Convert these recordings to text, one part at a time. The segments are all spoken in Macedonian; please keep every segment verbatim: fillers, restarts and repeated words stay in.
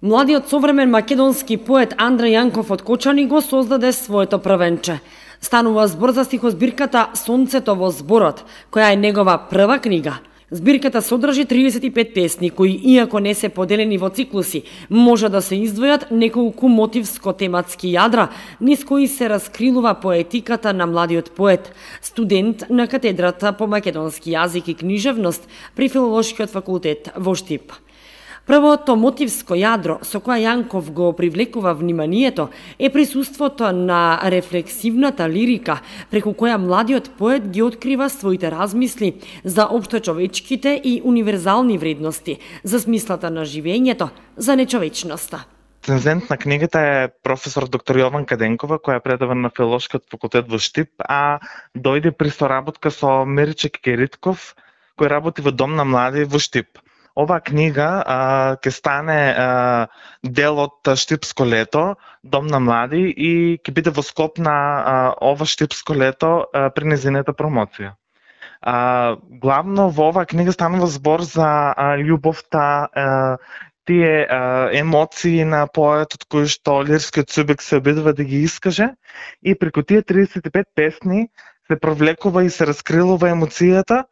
Младиот современ македонски поет Андреј Јанков од Кочани го создаде своето првенче. Станува збор за стихозбирката Сонцето во зборот, која е негова прва книга. Збирката содржи триесет и пет песни, кои, иако не се поделени во циклуси, може да се издвојат неколку мотивско-тематски јадра, низ кои се раскрилува поетиката на младиот поет, студент на катедрата по македонски јазик и книжевност при Филолошкиот факултет во Штип. Првото мотивско јадро со која Јанков го привлекува вниманието е присуството на рефлексивната лирика, преку која младиот поет ги открива своите размисли за општечовечките и универзални вредности, за смислата на живењето, за нечовечноста. Рецензент на книгата е професор доктор Јован Каденкова, која предава на Филолошкиот факултет во Штип, а дојде при соработка со Мирче Кекеритков, кој работи во Дом на млади во Штип. Оваа книга а, ќе стане а, дел од Штипско лето, Дом на млади, и ќе биде во склоп на а, ова Штипско лето а, при незината промоција. А, главно во оваа книга станува збор за а, љубовта, а, тие а, емоции на поетот кои што лирскиот субјект се обидува да ги искаже, и преку тие триесет и пет песни се провлекува и се раскрилува емоцијата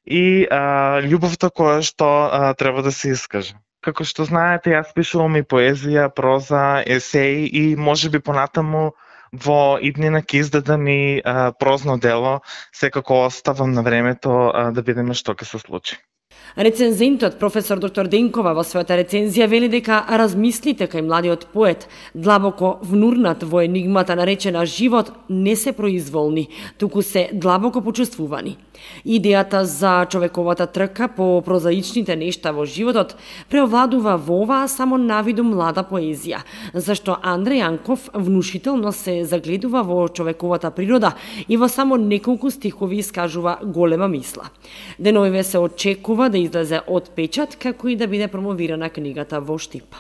и а, љубовта која што а, треба да се искаже. Како што знаете, јас пишувам и поезија, проза, есеи и можеби понатаму во иднина ќе издадам и а, прозно дело, секако оставам на времето а, да видиме што ќе се случи. Рецензентот професор доктор Денкова во својата рецензија вели дека размислите кај младиот поет, длабоко внурнат во енигмата наречена живот, не се произволни, туку се длабоко почувствувани. Идејата за човековата трка по прозаичните нешта во животот преовладува во оваа само навиду млада поезија, зашто Андреј Јанков внушително се загледува во човековата природа и во само неколку стихови искажува голема мисла. Деновиве се очекува да излезе од печат, како и да биде промовирана книгата во Штип.